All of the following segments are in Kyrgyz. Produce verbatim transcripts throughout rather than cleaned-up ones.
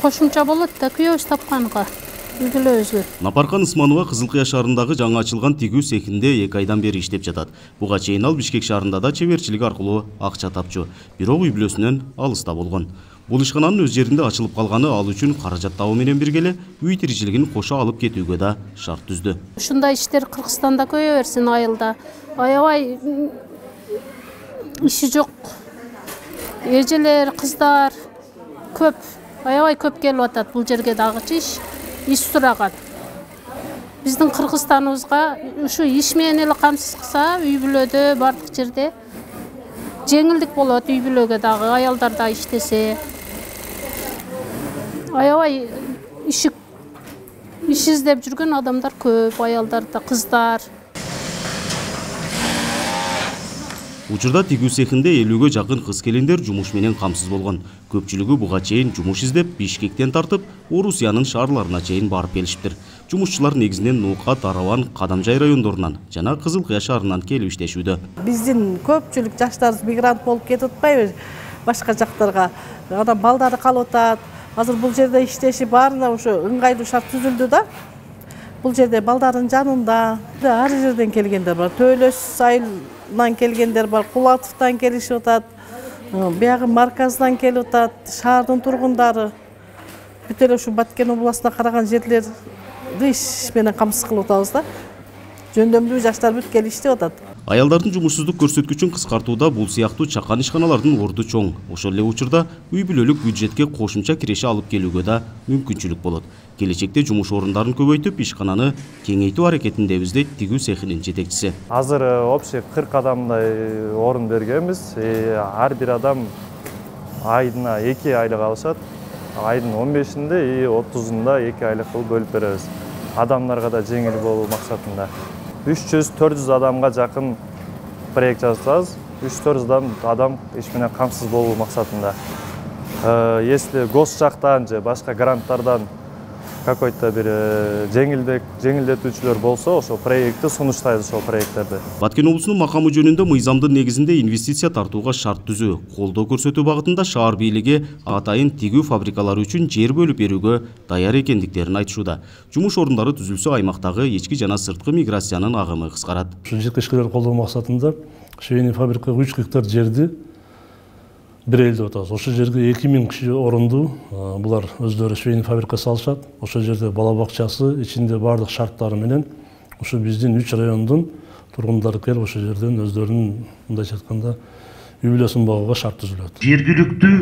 Кошумча болот да күйөөбүз тапканга. Напаркан Ысманова Кызыл Кыя шаарындагы жаңы ачылган тигүү цехинде эки айдан бери иштеп жатат. Буга чейин ал Бишкек шаарында да чеберчилик аркылуу акча тапчу, бирок үй бүлөсүнөн алыста болгон. Бул ишкананын өз жеринде ачылып калганы ал үчүн каражат табуу менен бирге эле үй тиричилигин кошо алып кетүүгө да шарт түздү. Ушундай иштер Кыргызстанда көбөйө берсин айылда. Аябай иши жок. Эжелер, кыздар көп, аябай көп келип атат бул жерге дагычы иш. Иш сураган. Биздин Кыргызстаныбызга ушу иш менен эле камсыз кылса, үй бүлөдө бардык жерде жеңилдик болот, үй бүлөгө дагы, аялдар да иштесе. Аябай иши иш издеп жүргөн адамдар көп, аялдар да, кыздар. Учурда тигүү цехинде элүүгө жакын кыз-келиндер жумуш менен камсыз болгон. Көпчүлүгү буга чейин жумуш издеп Бишкектен тартып, Орусиянын шаарларына чейин барып келишиптир. Жумушчулар негизинен Нуука, Тараван, Кадамжай райондорунан жана Кызыл Кыя шаарынан келип иштешүүдө. Биздин көпчүлүк жаштарыбыз мигрант болуп кетип атпайбы башка жактарга. Адам балдары калып атат. Азыр бул жерде иштеши баарына ошо ыңгайлуу шарт түзүлдү да. Бул жерде балдардын жанында ар жерден келгендер бар. Төлөс айылынан келгендер бар, Кулатовдон келишип атат. Биягы Марказдан келип атат, шаардын тургундары. Бүт эле ушу Баткен областына караган жерлерди иш менен камсыз кылып атабыз да. Жөндөмдүү жаштар бүт келип иштеп атат. Аялдардын жумушсуздук көрсөткүчүн кыскартууда бул сыяктуу чакан ишканалардын орду чоң. Ошол эле учурда үй бүлөлүк бюджетке кошумча киреше алып келүүгө да мүмкүнчүлүк болот. Келечекте жумуш орундарын көбөйтүп, ишкананы кеңейтүү аракетиндебиз дейт тигүү цехинин жетекчиси. Азыр общий кырк адамдай орун бергенбиз. Ар бир адам айына эки айлык алышат. Айдын он бешинде и отузунда эки айлык кылып бөлүп беребиз. Адамдарга да жеңил болуу максатында. үч жүз төрт жүз адамга жакын проект жасабыз. үч жүз төрт жүз адам иш менен камсыз болуу максатында. Если гос жактан же башка гранттардан какой-то бир жеңилдик жеңилдетүүчүлөр болсо, ошол проектти сунуштайбыз, ошол проекттерди. Баткен облусунун макамы жөнүндө мыйзамдын негизинде инвестиция тартууга шарт түзүү, колдоо көрсөтүү багытында шаар бийлиги атайын тигүү фабрикалары үчүн жер бөлүп берүүгө даяр экендиктерин айтышууда. Жумуш орундары түзүлсө, аймактагы ички жана сырткы миграциянын агымы кыскарат. Ушу жеткичилерди колдоо максатында швейный фабрикага үч гектар жерди берели деп атабыз. Ошол жерге эки миң киши орунду, булар өздөрү швейный фабрика салышат. Ошол жерде бала бакчасы, ичинде бардык шарттары менен ушу биздин үч райондун тургундары келип ошол жерден өздөрүнүн мындайча айтканда үй бүлөсүн багууга шарт түзүлөт. Жергиликтүү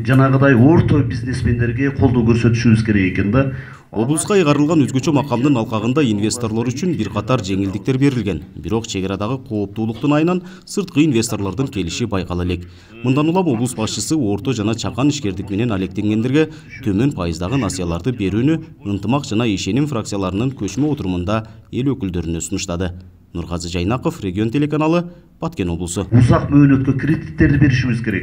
жанагыдай орто бизнесмендерге колдоо көрсөтүшүбүз керек экен да. Облуска ыйгарылган өзгөчө макамдын алкагында инвесторлор үчүн бир катар жеңилдиктер берилген. Бирок чек арадагы кооптуулуктун айынан сырткы инвесторлордун келиши байкала элек. Мындан улам облус башчысы орто жана чакан ишкердик менен алектенгендерге төмөн пайыздагы насыяларды берүүнү ынтымак жана ишеним фракцияларынын көчмө отурумунда эл өкүлдөрүнө сунуштады. Нургазы Жайнаков, Регион телеканалы, Баткен облусу. Узак мөөнөткө кредиттерди беришибиз керек.